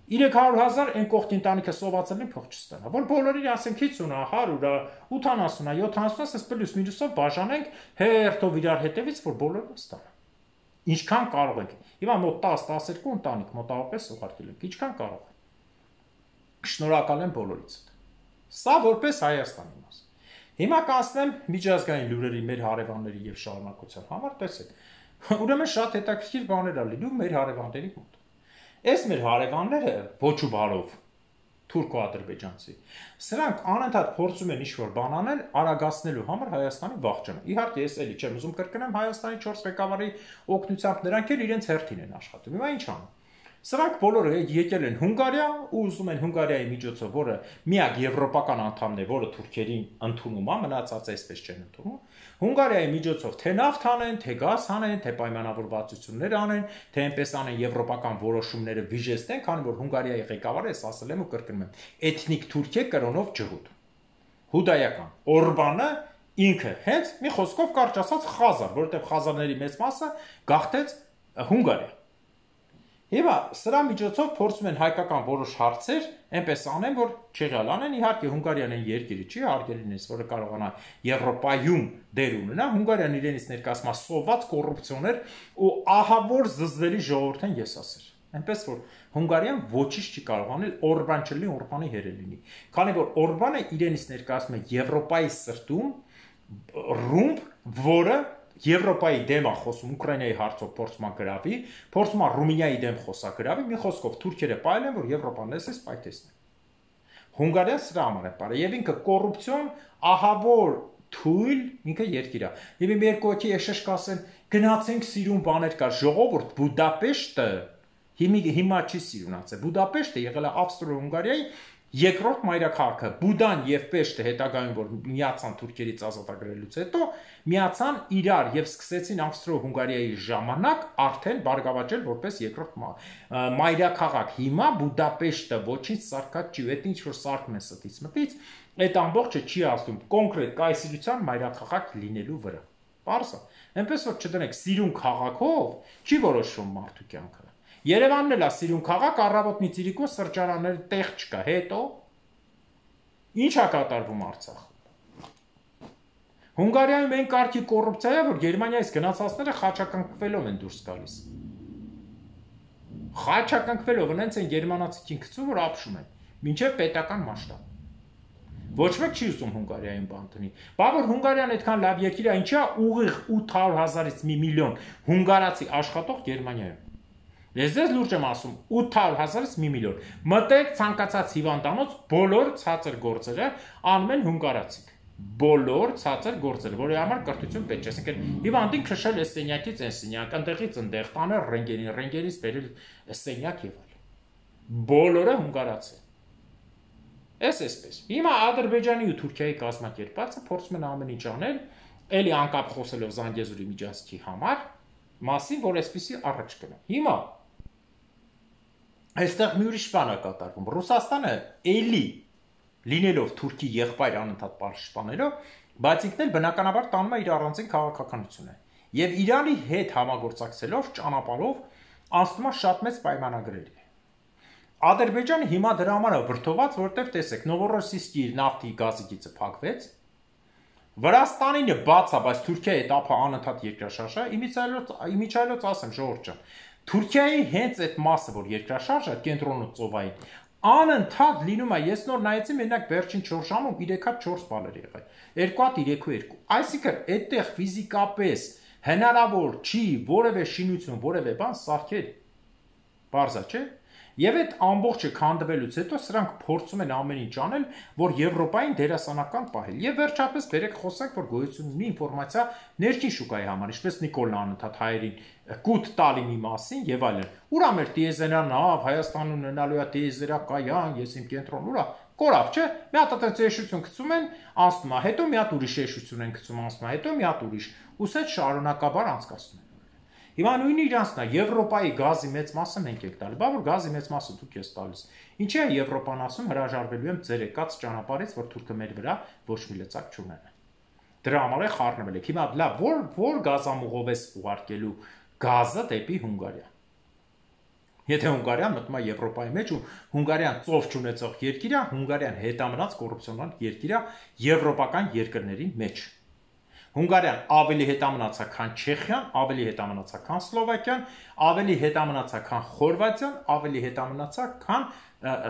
300,000 այն կողքի ընտանիքը սովածելին փող չստանա։ Որ բոլորին ասենք 50-ը, 100-ը, 80-ը, 70-ը, ասես պլյուս մինուսով բաժանենք հերթով իրար հետևից, որ բոլորը ստանան։ Ինչքան կարող եք։ Հիմա մոտ 10-12 ընտանիք մոտավորապես ուղարկել եք։ Ինչքան կարող եք։ Շնորհակալ եմ բոլորից։ Սա որպես Հայաստանի մաս։ Հիմա կանցնեմ միջազգային լուրերի մեր հարևանների եւ շարունակության համար, տեսեք։ Ուրեմն շատ հետաքրքիր բաներ ա լինում մեր հարևանների մոտ։ Այս մեր հարևանները ոչ ու բարով թուրքո-ադրբեջանցի։ Սրանք անընդհատ փորձում են ինչ-որ բան անել արագացնելու համար Հայաստանի վախճանը։ Իհարկե, ես էլի չեմ ուզում կրկնեմ Հայաստանի 4 ղեկավարի օգնությամբ նրանք էլ իրենց հերթին են աշխատում։ Հիմա ինչ անում։ Սրանք բոլորը եկել են Հունգարիա ու ուզում են Հունգարիայի միջոցով, որը միակ եվրոպական անդամն է, որը թուրքերին ընդունում է, մնացածը այսպես չեն ընդունում։ Հունգարիայի միջոցով թե նավթ անեն, թե գազ անեն, թե պայմանավորվածություններ անեն, թե այնպես անեն եվրոպական որոշումները վիժեցնեն, քանի որ Հունգարիայի ղեկավարը ես ասել եմ ու կրկնում եմ, էթնիկ թուրք է կրոնով ջհուդ։ Հուդայական։ Օրբանը ինքը հենց մի խոսքով կարճ ասած խազար, որովհետև խազարների մեծ մասը գաղթեց Հունգարիա։ Հիմա սրա միջոցով փորձում են հայկական որոշ հարցեր այնպես անեն, որ չեղյալ անեն, իհարկե Հունգարիան այն երկիրը չի, հարգելինս, որը կարողանա Եվրոպայում դեր ունենա, Հունգարիան իրենից ներկայացնում է սոված կոռուպցիոներ ու ահավոր զզվելի ժողովուրդ են եսասեր։ Այնպես որ Հունգարիան ոչինչ չի կարող անել Օրբան չլինի, Օրբանի հերը լինի։ Քանի որ Օրբանը իրենից ներկայացնում է Եվրոպայի սրտում ռումբ, որը Եվրոպայի դեմ է խոսում Ուկրաինայի հարցով փորձում է գրավի, փորձում է Ռումինիայի դեմ խոսագրավի, մի խոսքով թուրքերը պայել են, որ Եվրոպան լսես պայթեցնեն։ Հունգարիան սրա համար է պարը, եւ ինքը կոռուպցիոն, ահավոր թույլ, ինքը երկիր է։ Եվ իմ երկու հոգի եշեշ կասեն, գնացենք սիրուն բաներ կա, ժողովուրդ Բուդապեշտը հիմա չի սիրունացել։ Բուդապեշտը եղել է Ավստրո-Հունգարիայի երկրորդ մայրաքաղաքը։ Բուդան եւ Պեշտը հետագայում որ միացան թուրքերից ազատագրելուց հետո միացան իրար եւ սկսեցին Ավստրո-Հունգարիայի ժամանակ արդեն բարգավաճել որպես երկրորդ մայրաքաղաք։ Հիմա Բուդապեշտը ոչինչ սարքած չի, այդ ինչ որ սարքում է ստից մտից, այդ ամբողջը չի ասում կոնկրետ կայսրության մայրաքաղաք լինելու վրա։ Պարզ է։ Այնպես որ չդնեք սիրուն քաղաքով չի որոշվում մարդու կյանքը։ Երևանն էլ է սիրուն քաղաք, առավոտ Ծիրիկուն սրճարաններ տեղ չկա, հետո ինչ է կատարվում Արցախում։ Հունգարիայում այն կարգի կոռուպցիա է, որ Գերմանիայից գնացածները խաչակնկվելով են դուրս գալիս։ Խաչակնկվելով հենց են գերմանացիքին գցում, որ ապշում են, մինչև պետական մասշտաբ։ Ոչ մեկ չի ուզում Հունգարիայում բան տնի։ Բա որ Հունգարիան այդքան լավ երկիր է, ինչա ուղիղ 800,000-ից 1 միլիոն հունգարացի աշխատող Գերմանիայում։ Ես ձեզ լուրջ եմ ասում, 800,000-ից 1 միլիոն։ Մտեք ցանկացած հիվանդանոց, բոլոր ցածր գործերը անում են հունգարացիք։ Բոլոր ցածր գործերը, որի համար կրթություն պետք չէ, այսինքն հիվանդին քշել է սենյակից այն սենյակ, այնտեղից այնտեղ տանել ռենտգենին, ռենտգենից բերել սենյակ եւ այլ։ Բոլորը հունգարացի։ Այսպես։ Հիմա Ադրբեջանի ու Թուրքիայի կազմակերպածը փորձում են ամեն ինչ անել, էլի անկապ խոսելով Զանգեզուրի միջազգի համար, մասին, որ այսպեսի առաջ գնա։ Հիմա այստեղ մի ուրիշ բան է կատարվում։ Ռուսաստանը էլի լինելով Թուրքի եղբայր անընդհատ պաշտպանելով, բայց ինքն էլ բնականաբար տանում է իր առանձին քաղաքականությունը։ Եվ Իրանի հետ համագործակցելով, ճանապարհով անցնում է շատ մեծ պայմանագրերի։ Ադրբեջանը հիմա դրա համար է վրդոված, որտեղ տեսեք, Նովորոսիիսկի նավթի գազի գիծը փակվեց։ Վրաստանինը բաց է, բայց Թուրքիայի հետ ափը անընդհատ երկրաշարժ է, իմիջայլոց ասեմ ժողովուրդ ջան, Թուրքիայի հենց այդ մասը, որ երկրաշարժ է, կենտրոնը ծովային, Անընդհատ լինում է, ես նոր նայեցի, մենակ վերջին 4 ժամում 3 հատ 4 բալ էր եղել։ 2 հատ 3-2։ Այսինքն, այդտեղ ֆիզիկապես հնարավոր չի որևէ շինություն, որևէ բան սարքել։ Բարձա, չէ՞։ Եվ այդ ամբողջը քանդվելուց հետո սրանք փորձում են ամեն ինչ անել, որ Եվրոպային դերասանական պահել։ Եվ վերջապես բերեք խոսենք, որ գոյություն ունի ինֆորմացիա ներքին շուկայի համար, ինչպես Նիկոլն անընդհատ հայերին կուտ տալի մի մասին եւ այլն։ Ուրա մեր դիեզերանավ Հայաստանում ունենալու է դիեզերակայան, ես իմ կենտրոն ուրա կորավ, չէ՞։ Մի հատ այդպես եշություն գցում են, անցնում է, հետո մի հատ ուրիշ եշություն են գցում, անցնում է, հետո մի հատ ուրիշ։ Ուսետ շարունակաբար անցկացնում են։ Հիմա նույնը իրանցն է, Եվրոպայի գազի մեծ մասը մենք ենք տալի, բա որ գազի մեծ մասը դուք ես տալիս։ Ինչի է Եվրոպան ասում, հրաժարվելու եմ ձեր եկած ճանապարհից, որ թուրքը մեր վրա ոչ մի լծակ չունենա։ Դրա համար է խառնվել եք։ Հիմա լավ, որ գազամուղով ես ուղարկելու գազը դեպի Հունգարիա։ Եթե Հունգարիան մտնում է Եվրոպայի մեջ ու Հունգարիան ծով չունեցող երկիր է, Հունգարիան հետամնաց կոռուպցիոնալ երկիր է եվրոպական երկրների մեջ։ Հունգարիան ավելի հետամնաց է, քան Չեխիան, ավելի հետամնաց է, քան Սլովակիան, ավելի հետամնաց է, քան Խորվաթիան, ավելի հետամնաց է, քան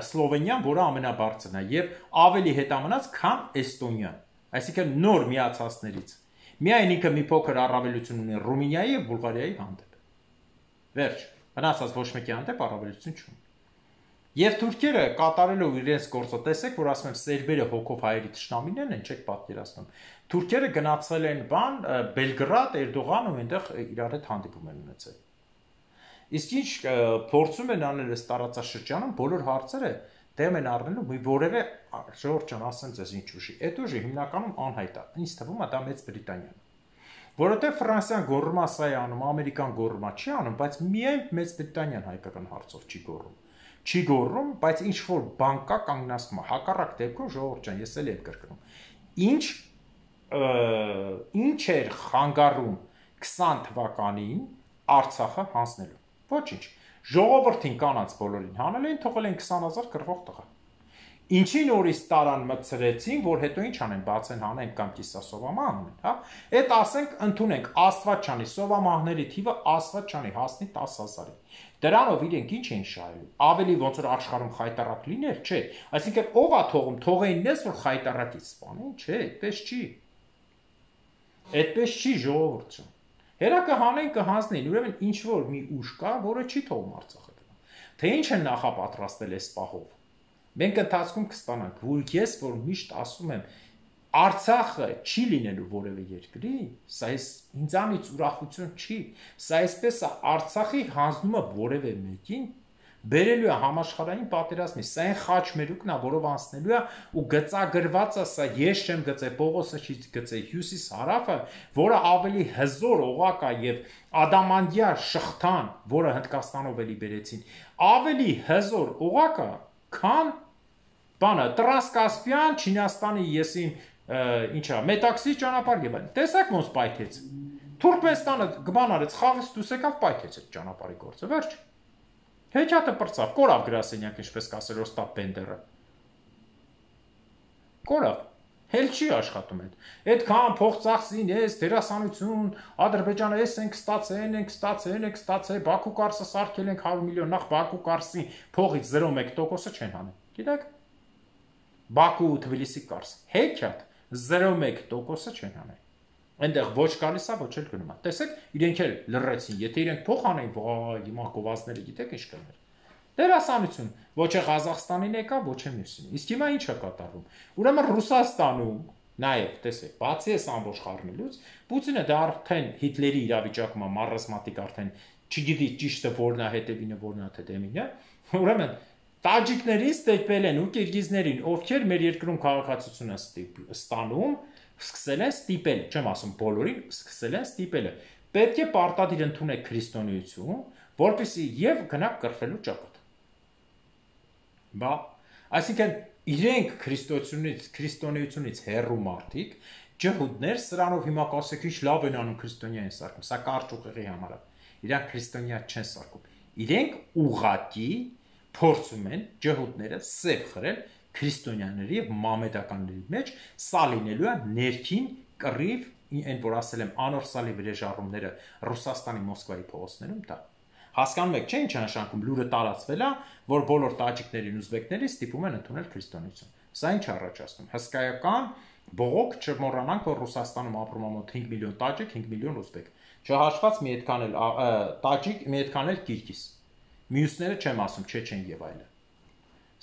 Սլովենիան, որը ամենաբարձրն է, եւ ավելի հետամնաց, քան Էստոնիան։ Այսինքն նոր միացածներից։ Միայն ինքը մի փոքր առավելություն ունի Ռումինիայի եւ Բուլղարիայի հանդեպ։ Վերջ, մնացած ոչ մեկի հանդեպ առավելություն չունի։ Եվ թուրքերը կատարելով իրենց գործը, տեսեք, որ ասում եմ, սերբերը հոգով հայերի թշնամիներն են, չեք պատկերացնում։ Թուրքերը գնացել են բան Բելգրադ, Էրդողան ու այնտեղ իրար հետ հանդիպում են ունեցել։ Իսկ ինչ փորձում են անել այս տարածաշրջանում, բոլոր հարցերը դեմ են առնելու մի որևէ Ժորժ ջան, ասեմ ձեզ ինչ ուժի։ Այդ ուժը հիմնականում անհայտ է։ Ինձ թվում է դա Մեծ Բրիտանիան։ Որովհետև Ֆրանսիան գոռում է սա է անում, Ամերիկան գոռում է չի անում, բայց միայն Մեծ Բրիտանիան հայկական հարցով չի գոռում։ Չի գոռում, բայց ինչ որ բան կա կանգնացնում է։ Հակառակ դեպքում Ժողովուրդ ջան, ես էլ եմ կրկնում։ Ինչ էր խանգարում 20 թվականին Արցախը հանձնելու։ Ոչինչ։ Ժողովրդին կանանց բոլորին հանել էին, թողել են 20,000 կռվող տղա։ Ինչին օրից տարան մտցրեցին, որ հետո ինչ անեն, բացեն հանեն կամ կիսասովամա անեն, հա։ Այդ ասենք ընդունենք Աստված չանի, սովամահների թիվը Աստված չանի հասնի 10,000-ի։ Դրանով իրենք ինչ են շահելու։ Ավելի ոնց որ աշխարհում խայտարակ լիներ, չէ։ Այսինքն ով է թողում, թողեին դες որ խայտարակից սպանեն, չէ, այդպես չի։ Այդպես չի ժողովուրդ։ Հերա կհանեն կհանձնեն, ուրեմն ինչ որ մի ուժ կա, որը չի թողում Արցախը գնալ։ Թե ինչ են նախապատրաստել այս պահով։ Մենք ընթացքում կստանանք, որ ես որ միշտ ասում եմ, Արցախը չի լինելու որևէ երկրի, սա ինձանից ուրախություն չի, սա այսպես է Արցախի հանձնումը որևէ մեկին բերելու է համաշխարհային պատերազմի, սա այն խաչմերուկն է, որով անցնելու է ու գծագրված է, սա ես չեմ գծել, Պողոսը չի գծել, Հյուսիս հարավը, որը ավելի հզոր օղակ է եւ ադամանդյա շղթան, որը Հնդկաստանով էլի բերեցին, ավելի հզոր օղակ է, քան բանը Տրանսկասպիան, Չինաստանի եսին ինչա, Մետաքսի ճանապարհ եւ այլն։ Տեսակ ոնց պայթեց։ Թուրքմենստանը գման արեց, խաղից դուրս եկավ, պայթեց այդ ճանապարհի գործը, վերջ։ Հեքիաթը պրծավ, կորավ գրասենյակ, ինչպես կասել Օստապ Բենդերը։ Կորավ։ Հել չի աշխատում այդ։ Այդքան փող ծախսին, էս դերասանություն, Ադրբեջանը էս ենք ստացել, Բաքու կարսը սարքել ենք 100 միլիոն, նախ Բաքու կարսի փողից 0.1%-ը չեն հանել։ Գիտեք։ Բաքու ու Թբիլիսի կարս։ Հեքիաթ 0.1%-ը չեն հանել։ Այնտեղ ոչ գալիս է, ոչ էլ գնում է։ Տեսեք, իրենք էլ լռեցին, եթե իրենք փող անեն, վայ, հիմա գովազները գիտեք ինչ կներ։ Դերասանություն, ոչ է Ղազախստանին եկա, ոչ է մյուսին։ Իսկ հիմա ինչ է կատարվում։ Ուրեմն Ռուսաստանում նաև, տեսեք, բացի այս ամբողջ խառնելուց, Պուտինը դա արդեն Հիտլերի իրավիճակում է, մարզմատիկ արդեն չգիտի ճիշտը որն է, հետևինը որն է, թե դեմինը։ Ուրեմն տաջիկներին ստիպել են ու կիրգիզներին, ովքեր մեր երկրում քաղաքացիություն են ստանում, սկսել են ստիպել, չեմ ասում բոլորին, սկսել են ստիպելը։ Պետք է պարտադիր ընդունեք քրիստոնեություն, որպեսզի եւ գնաք կրթվելու ճակատ։ Բա, այսինքն իրենք քրիստոնեությունից հեռու մարդիկ, ջհուդներ, սրանով հիմա կասեք ինչ լավ են անում քրիստոնյա են սարքում, սա կարճ ուղեղի համար է։ Իրանք քրիստոնյա չեն սարքում։ Իրենք ուղղակի փորձում են ջհուդները սև խրել քրիստոնյաների եւ մամեդականների մեջ, սա լինելու է ներքին կռիվ, այն որ ասել եմ անորսալի վրեժառումները Ռուսաստանի Մոսկվայի փողոցներում դա։ Հասկանում եք, չէ՞ ինչ է նշանակում լուրը տարածվել է, որ բոլոր տաջիկներին ուզբեկներին ստիպում են ընդունել քրիստոնեություն։ Սա ինչ առաջացնում։ Հսկայական բողոք, չմոռանանք, որ Ռուսաստանում ապրում է մոտ 5 միլիոն տաջիկ, 5 միլիոն ուզբեկ։ Չհաշված մի այդքան էլ տաջիկ, մի այդքան էլ կիրգիզ։ Մյուսները չեմ ասում, չեչեն եւ այլն։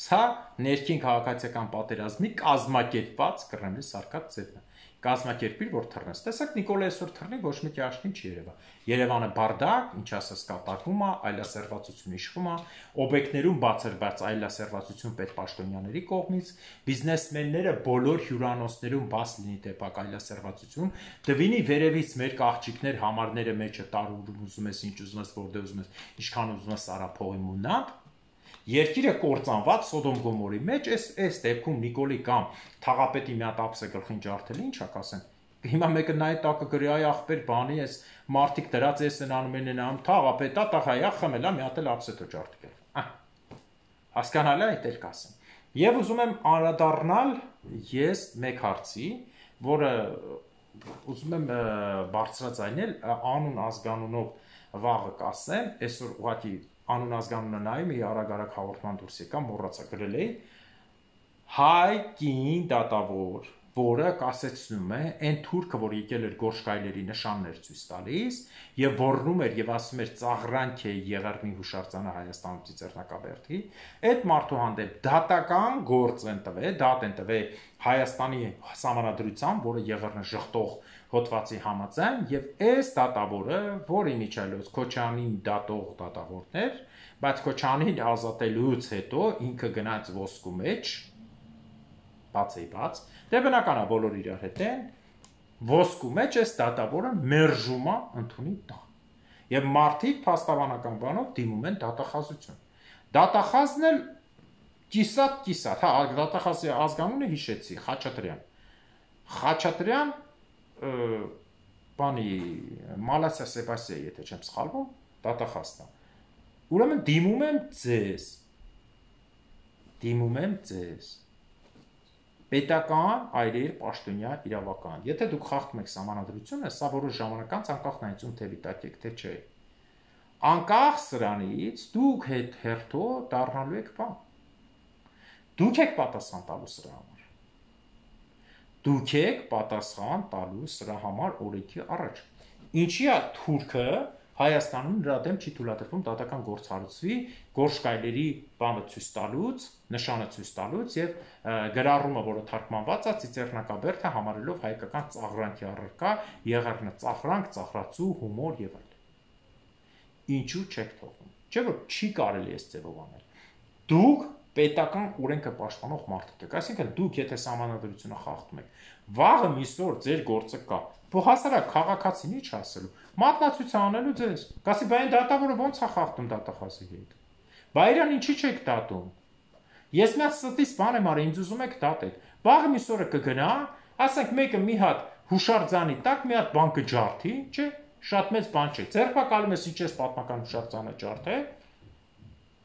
Սա ներքին քաղաքացիական պատերազմի կազմակերպված Կրեմլի սարկած ձևն է։ Կազմակերպիր, որ թռնես։ Տեսեք, Նիկոլը այսօր թռնի ոչ մի ճաշին չի Երևա։ Երևանը բարդակ, ինչ ասես կատակում է, այլասերվածություն իշխում է, օբյեկտներում բացերված այլասերվածություն պետպաշտոնյաների կողմից, բիզնեսմենները բոլոր հյուրանոցներում բաց լինի տեպակ այլասերվածություն, դվինի վերևից մեր աղջիկներ համարները մեջը տարում ուզում ես, ինչ ուզում ես, որտեղ ուզում ես, ինչքան ուզում ես արա փողի մունատ։ Երկիրը կործանված Սոդոմ Գոմորի մեջ այս դեպքում Նիկոլի կամ թաղապետի մի հատ ապսը գլխին ջարդել ինչ ա կասեն։ Հիմա մեկը նայ տակը գրի այ ախպեր բանի էս մարտիկ դրած էս են անում են ամ թաղապետա տաղայա խմելա մի հատ էլ ապսետո ջարդել։ Հասկանալի է այդ էլ կասեն։ Եվ ուզում եմ անդրադառնալ ես մեկ հարցի, որը ուզում եմ բարձրաձայնել անուն ազգանունով վաղը կասեմ, այսօր ուղղակի անուն ազգանունը նայում էի արագ հաղորդման դուրս եկա, մոռացա գրել էի հայ կին դատավոր, որը կասեցնում է այն թուրքը, որ եկել էր Գորշկայլերի նշաններ ցույց տալիս եւ ոռնում էր եւ ասում էր ծաղրանք է Եղեռնի հուշարձանը Հայաստանում Ծիծեռնակաբերդի, այդ մարդու հանդեպ դատական գործ են տվել, դատ են տվել Հայաստանի համանadrությամբ, որը Եղեռնը շղթող հոդվածի համաձայն եւ այս դատավորը, որի միջալոց Քոչանին դատող դատավորներ, բայց Քոչանին ազատելուց հետո ինքը գնաց ոսկու մեջ, բաց, դե բնական է բոլոր իրար հետ են, ոսկու մեջ այս դատավորը մերժում է ընդունի տա։ Եվ մարդիկ փաստաբանական բանով դիմում են դատախազություն։ Դատախազն էլ կիսատ, հա, դատախազի ազգանունը հիշեցի, Խաչատրյան բանի Մալասիա Սեբաստիա, եթե չեմ սխալվում, դատախազն է։ Ուրեմն դիմում եմ ձեզ պետական այրեր պաշտոնյա իրավական։ Եթե դուք խախտում եք սահմանադրությունը, սա որոշ ժամանակ անց անկախ նայեցում թե վիտակ եք, թե չէ։ Անկախ սրանից դուք հետ հերթո դառնալու եք բան։ Դուք եք պատասխան տալու սրա համար։ Դուք եք պատասխան տալու սրա համար օրենքի առաջ։ Ինչի է թուրքը Հայաստանում նրա դեմ չի թույլատրվում դատական գործ հարուցվի Գորշկայլերի բանը ցույց տալուց, նշանը ցույց տալուց եւ գրառումը, որը թարգմանված է Ծիծեռնակաբերդը համարելով հայկական ծաղրանքի առարկա, Եղեռնը ծաղրանք, ծաղրացու, հումոր եւ այլն։ Ինչու չեք թողնում։ Չէ՞ որ չի կարելի այս ձևով անել։ Դուք պետական օրենքը պաշտպանող մարդիկ եք, այսինքն դուք եթե սահմանադրությունը խախտում եք, վաղը միսօր ձեր գործը կա։ Փոխհասարակ քաղաքացին ի՞նչ ասելու։ Մատնացույց անելու ձեզ։ Կասի, բա այն դատավորը ո՞նց է խախտում դատախազի հետ։ Բա իրան ինչի՞ չեք դատում։ Ես մի հատ ստից բան եմ արել, ինձ ուզում եք դատել։ Վաղը միսօրը կգնա, ասենք մեկը մի հատ հուշարձանի տակ մի հատ բան կջարդի, չէ՞, շատ մեծ բան չէ։ Ձերբակալում ես իջես պատմական հուշարձանը ջարդել,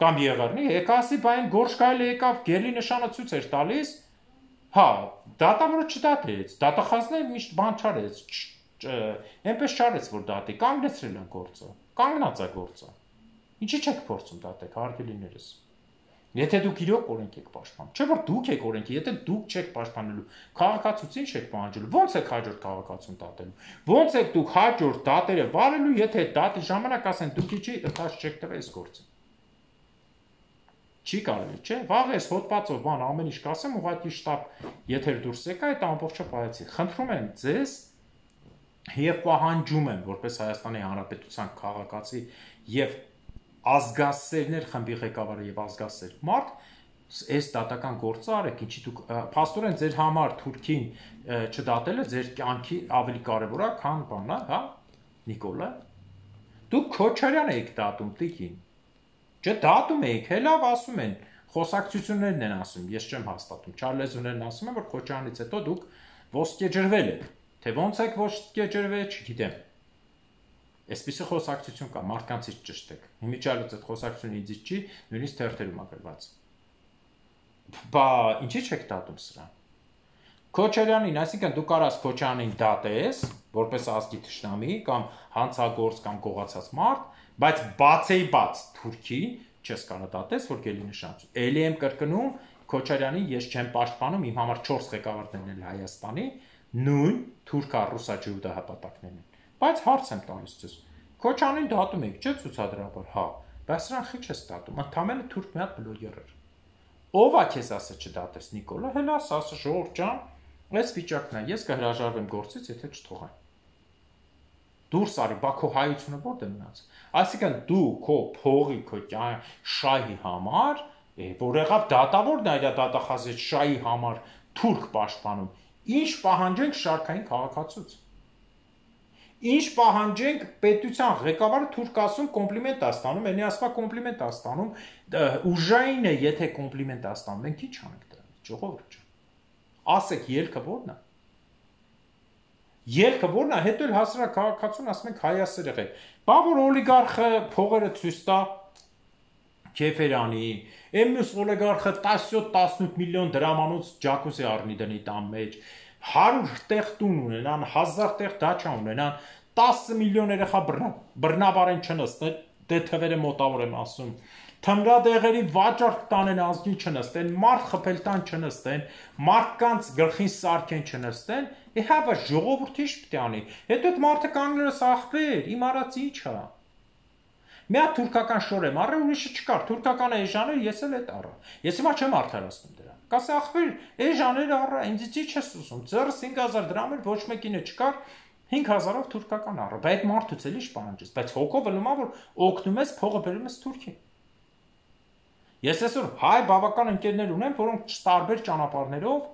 կամ Եղեռնի, եկա ասի, բա այն Գորշկայլը եկավ, գերի նշանը ցույց էր տալիս, հա, դատավորը չդատեց, դատախազն միշտ բան չարեց, այնպես չարեց, որ դատի, կանգնեցրել են գործը, կանգնած է գործը։ Ինչի՞ չեք փորձում դատեք, հարգելիներս։ Եթե դուք իրոք օրենք եք պաշտպանում, չէ՞ որ դուք եք օրենքի, եթե դուք չեք պաշտպանելու, քաղաքացիություն չեք պահանջելու, ո՞նց եք հաջորդ քաղաքացիություն դատելու։ Ո՞նց եք դուք հաջորդ դատերը վարելու, եթե դատի ժամանակ ասեն դուք իջի ընթաց չեք տվել այս գործը։ Չի կարելի, չէ՞։ Վաղ էս հոդվածով բան ամեն ինչ կասեմ, ուղղակի շտապ եթեր դուրս եկա, այդ ամբողջը պահեցի։ Խնդրում եմ ձեզ եւ պահանջում եմ, որպես Հայաստանի Հանրապետության քաղաքացի եւ ազգասերներ խմբի ղեկավարը եւ ազգասեր մարդ, այս դատական գործը արեք, ինչի դուք փաստորեն ձեր համար Թուրքին չդատելը ձեր կյանքի ավելի կարեւոր է, քան բանա, հա, Նիկոլա։ Դուք Քոչարյան եք դատում, տիկին։ Չէ, դատում եք, հելավ ասում են, խոսակցություններն են ասում, ես չեմ հաստատում, չարլեզուներն ասում են, որ Քոչարանից հետո դուք ոսկեջրվել եք, թե ոնց եք ոսկեջրվել, չգիտեմ։ Այսպիսի խոսակցություն կա, մարդկանցից ճշտեք, հիմիջալուց այդ խոսակցությունը ինձից չի, նույնիսկ թերթերում ագրված։ Բա ինչի՞ չեք դատում սրան։ Քոչարյանին, այսինքն դու կարաս Քոչարյանին դատես, որպես ազգի թշնամի կամ հանցագործ կամ գողացած մարդ, բայց բացեի բաց Թուրքի չես կարող դատես, որ գելի նշանություն։ Էլի եմ կրկնում, Քոչարյանին ես չեմ պաշտպանում, իմ համար 4 ղեկավարներն են Հայաստանի, նույն թուրք-ռուսա-ջյուդա հապատակներն են։ Բայց հարց եմ տալիս ձեզ։ Քոչարյանին դատում եք, չէ՞ ցուցադրաբար, հա, բայց նրան խի չես դատում, ընդամենը թուրք մի հատ բլոգեր էր։ Ո՞վ է քեզ ասա չդատես, Նիկոլա, հելա ասա Ժողովուրդ ջան, այս վիճակն է, ես կհրաժարվեմ գործից, եթե չթողան։ Դուրս արի, բա քո հայությունը որտե մնաց։ Այսինքն դու քո փողի, քո շահի համար, որ եղավ դատավորն այլ դատախազի շահի համար թուրք պաշտպանում, ինչ պահանջենք շարքային քաղաքացուց։ Ինչ պահանջենք պետության ղեկավարը թուրք ասում կոմպլիմենտ է ստանում, այնի ասվա կոմպլիմենտ է ստանում, ուժային է, եթե կոմպլիմենտ է ստանում, մենք ինչ անենք դրանից, ժողովուրդ ջան։ Ասեք ելքը ո՞րն է։ Ելքը ո՞րն է, հետո էլ հասարակ քաղաքացուն ասում ենք հայասերեղ է։ Բա որ օլիգարխը փողերը ցույց տա Քեֆերանի, մյուս օլիգարխը 17-18 միլիոն դրամանոց ջակուզի առնի դնի տան մեջ, 100 տեղ տուն ունենան, 1000 տեղ դաչա ունենան, 10 միլիոն երեխա բռնաբարեն չնստեն, դե թվերը մոտավոր եմ ասում, թմրադեղերի վաճառք տանեն ազգին չնստեն, մարդ խփել տան չնստեն, մարդկանց գլխին սարքեն չնստեն, հա բա ժողովուրդի ինչ պետք է անի։ Հետո այդ մարդը կանգնելս ախպեր, իմ արած ինչ է։ Մի հատ թուրքական շոր եմ առել, ուրիշը չկար, թուրքական էժաներ ես էլ այդ առա։ Ես հիմա չեմ արդարացնում դրան։ Կասե ախպեր, էժաներ առա, ինձ ինչ ես ուզում։ Ձեռս 5000 դրամ էր, ոչ մեկինը չկար, 5000-ով թուրքական առա։ Բայց այդ մարդուց էլի շպանջես, բայց հոգով ելնում է, որ օգնում ես, փողը բերում ես Թուրքին։ Ես այսօր հայ բավական ընկերներ ունեմ, որոնք տարբեր ճանապարհներով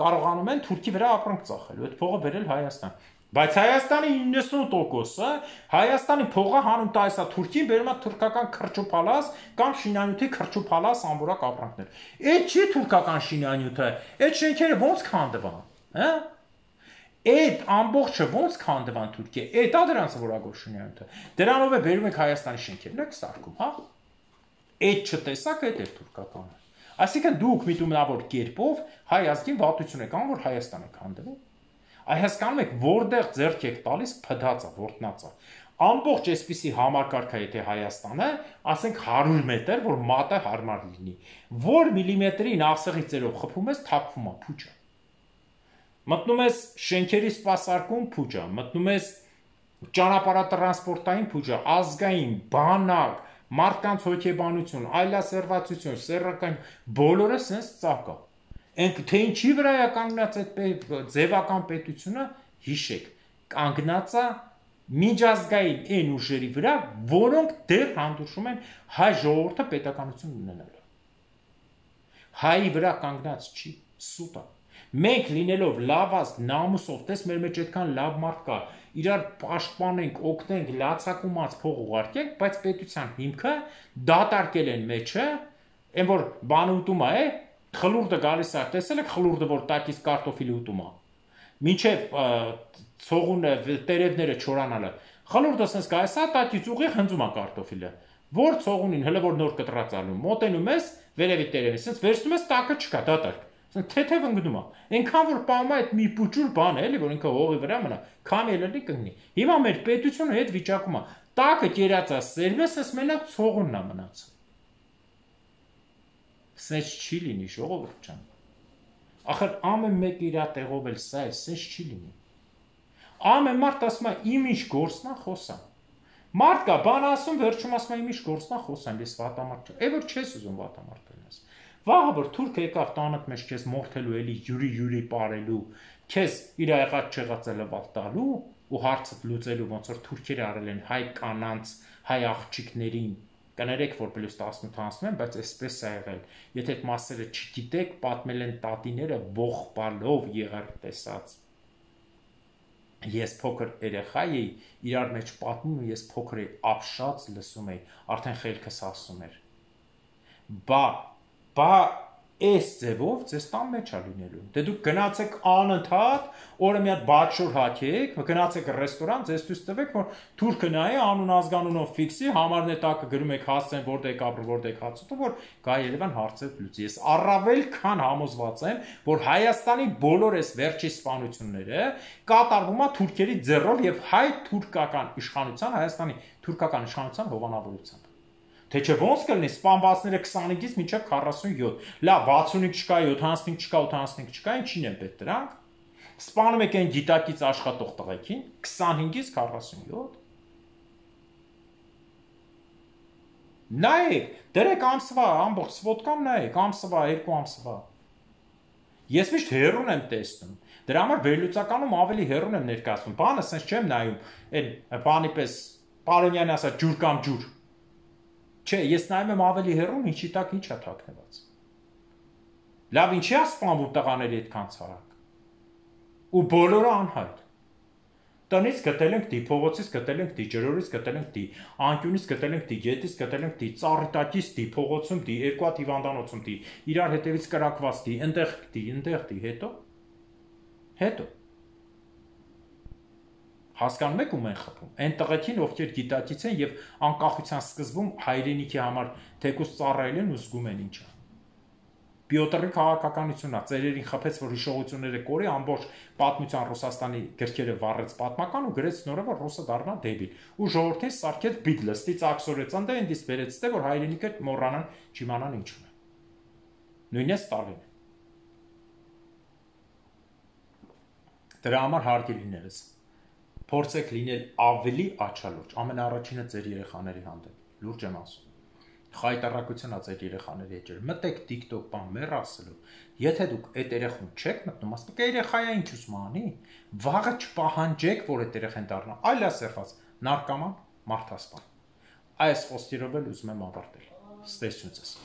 կարողանում են Թուրքի վրա ապրանք ծախել, այդ փողը բերել Հայաստան։ Բայց Հայաստանի 90%-ը Հայաստանի փողը հանում տալիս է Թուրքին, բերում է թուրքական քրճուփալաս կամ շինանյութի քրճուփալաս ամբորակ ապրանքներ։ Այդ չի թուրքական շինանյութը, այդ շենքերը ո՞նց քանդվան, հա։ Այդ ամբողջը ո՞նց քանդվան Թուրքիա։ Այդ է դրանց որակով շինանյութը։ Դրանով է բերում եք Հայաստանի շենքերն եք սարքում, հա։ Այդ չտեսակ այդ է թուրքականը։ Այսինքն դուք միտումնավոր կերպով հայ ազգին վատություն եք անում, որ Հայաստանը քանդվի։ Այ հասկանում եք, որտեղ ձեռք եք տալիս փդածը, որտնածը։ Ամբողջ այսպիսի համակարգ է, եթե Հայաստանը, ասենք 100 մետր, որ մատը հարմար լինի, որ միլիմետրի նախսեղի ծերով խփում ես, թափվում է փուչը։ Մտնում ես շենքերի սպասարկում փուչը, մտնում ես ճանապարհատրանսպորտային փուչը, ազգային, բանակ, մարդկանց հոգեբանություն, այլասերվածություն, սեռական բոլորը sense ծակա։ Թե ինչի վրա է կանգնած այդ ձևական պետությունը, հիշեք, կանգնած է միջազգային այն ուժերի վրա, որոնք դեռ հանդուրժում են հայ ժողովուրդը պետականություն ունենալու։ Հայի վրա կանգնած չի, սուտ է։ Մենք լինելով լավ ազգ, նամուսով, տես մեր մեջ այդքան լավ մարդ կա, իրար պաշտպանենք, օգնենք, լացակումած փող ուղարկենք, բայց պետության հիմքը դատարկել են մեջը, այն որ բանը ուտում է, խլուրդը գալիս է, տեսել եք խլուրդը, որ տակից կարտոֆիլի ուտում է, մինչև ցողունը, տերևները չորանալը, խլուրդը sense գալիս է, տակից ուղիղ հնձում է կարտոֆիլը, որ ցողունին, հələ որ նոր կտրած ալում, մոտենում ես, վերևի տերևի, sense վերցնում ես, տակը չկա, դատարկ, թեթև ընկնում է, այնքան որ պահում է այդ մի պուճուր բան է, էլի, որ ինքը հողի վրա մնա, քամի ելնի կգնի, հիմա մեր պետությունը այդ վիճակում է, տակը կերած է, սերում ես, sense մենակ ցողունն է մնաց։ Sense չի լինի, ժողովուրդ ջան։ Ախր ամեն մեկ իր տեղով էլ սա է, sense չի լինի։ Ամեն մարդ ասում է իմ ինչ գործն է խոսամ։ Մարդ կա բան ասում, վերջում ասում է իմ ինչ գործն է խոսամ, ես վատամարդ չեմ։ Որ չես ուզում վատամարդ լինես։ Վաղը որ թուրքը եկավ տանդ մեջ քեզ մորթելու էլի յուրի ապարելու, քեզ իր եղած չեղածը լվալ տալու ու հարցդ լուծելու, ոնց որ թուրքերը արել են հայ կանանց, հայ աղջիկներին։ Կներեք, որ պլյուս 18 անցնում են, բայց այսպես է եղել։ Եթե այդ մասերը չգիտեք, պատմել են տատիները ողբալով եղար տեսած։ Ես փոքր երեխա էի, իրար մեջ պատմում ու ես փոքր էի, ապշած լսում էի, արդեն խելքս ասում էր։ Բա Այս ձևով ձեզ տան մեջ է լինելու։ Դե դուք գնացեք անընդհատ, օրը մի հատ բաճշոր հագեք, գնացեք ռեստորան, ձեզ ցույց տվեք, որ թուրքը նայի անուն ազգանունով ֆիքսի, համարն է տակը գրում եք հասցեն, որտեղ եք ապրում, որտեղ եք հացուտում, որ գա Երևան հարցեր լուծի։ Ես առավել քան համոզված եմ, որ Հայաստանի բոլոր այս վերջի սպանությունները կատարվում է թուրքերի ձեռով եւ հայ-թուրքական իշխանության, Հայաստանի թուրքական իշխանության հովանավորությամբ։ Թե չէ ոնց կլինի սպանվածները 25-ից մինչև 47, լավ 65 չկա, 75 չկա, 85 չկա, ինչին են պետք դրանք։ Սպանում եք այն գիտակից աշխատող տղեկին 25-ից 47։ Նայեք, դրեք ամսվա, ամբողջ սվոտկան նայեք, ամսվա, 2 ամսվա։ Ես միշտ հերուն եմ տեսնում։ Դրա համար վերլուծականում ավելի հերուն եմ ներկայացնում։ Բանը sense չեմ նայում, այն բանի պես Պարոնյանը ասա ջուր կամ ջուր։ Չէ, ես նայում եմ ավելի հեռուն, ինչի տակ ինչ է թաքնված։ Լավ, ինչի է սպանվում տղաների այդքան ցարակ։ Ու բոլորը անհայտ։ Տնից գտել ենք դի, փողոցից գտել ենք դի, ջրորից գտել ենք դի, անկյունից գտել ենք դի, գետից գտել ենք դի, ծառի տակից դի, փողոցում դի, երկու հատ հիվանդանոցում դի, իրար հետևից կրակված դի, այնտեղ դի, հետո։ Հասկանում եք ում են խփում։ Այն տղեկին, ովքեր գիտակից են եւ անկախության սկզբում հայրենիքի համար թեկուս ծառայել են ու զգում են ինչա։ Պյոտրի քաղաքականությունն է, ծերերին խփեց, որ հիշողությունները կորի, ամբողջ պատմության Ռուսաստանի գրքերը վառեց պատմական ու գրեց նորը, որ Ռուսը դառնա դեբիլ։ Ու ժողովրդին սարքեց բիգլստի ծակսորեց, անդե ինձ վերեց թե որ հայրենիքը մոռանան, չիմանան ինչու է։ Նույնիսկ Ստալին։ Դրա համար հարգելիներս փորձեք լինել ավելի աչալուրջ, ամենաառաջինը ձեր երեխաների հանդեպ, լուրջ եմ ասում։ Խայտարակություն է ձեր երեխաների հետ ջեր, մտեք TikTok բան մեր ասելու, եթե դուք այդ երեխուն չեք մտնում, ասեք երեխայա ինչ ուզում անի, վաղը չպահանջեք, որ այդ երեխան դառնա, այլ ասերված, նարկոման, մարդասպան։ Այս խոսքերով էլ ուզում եմ ավարտել։ Ստեսություն ձեզ։